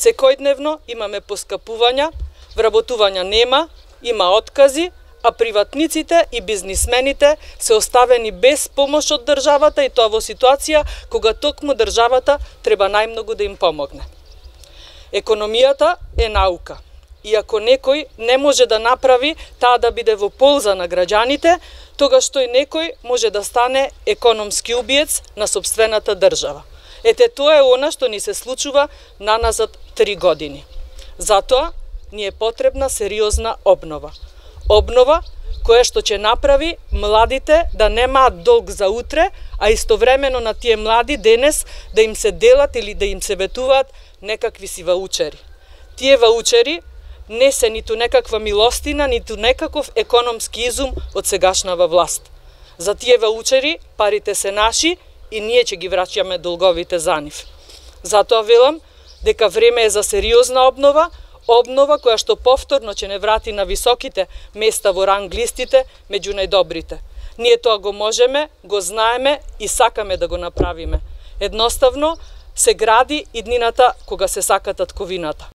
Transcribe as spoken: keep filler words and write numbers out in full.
Секојдневно имаме поскапувања, вработувања нема, има откази, а приватниците и бизнисмените се оставени без помош од државата, и тоа во ситуација кога токму државата треба најмногу да им помогне. Економијата е наука. И ако некој не може да направи таа да биде во полза на граѓаните, тогаш тој некој може да стане економски убиец на сопствената држава. Ете, тоа е она што ни се случува наназад три години. Затоа ни е потребна сериозна обнова. Обнова која што ќе направи младите да немаат долг за утре, а истовремено на тие млади денес да им се делат или да им се ветуваат некакви си ваучери. Тие ваучери не се ниту некаква милостина, ниту некаков економски изум од сегашнава власт. За тие ваучери парите се наши и ние ќе ги враќаме долговите за нив. Затоа велам дека време е за сериозна обнова, обнова која што повторно ќе не врати на високите места во ранг листите меѓу најдобрите. Ние тоа го можеме, го знаеме и сакаме да го направиме. Едноставно се гради иднината кога се сака татковината.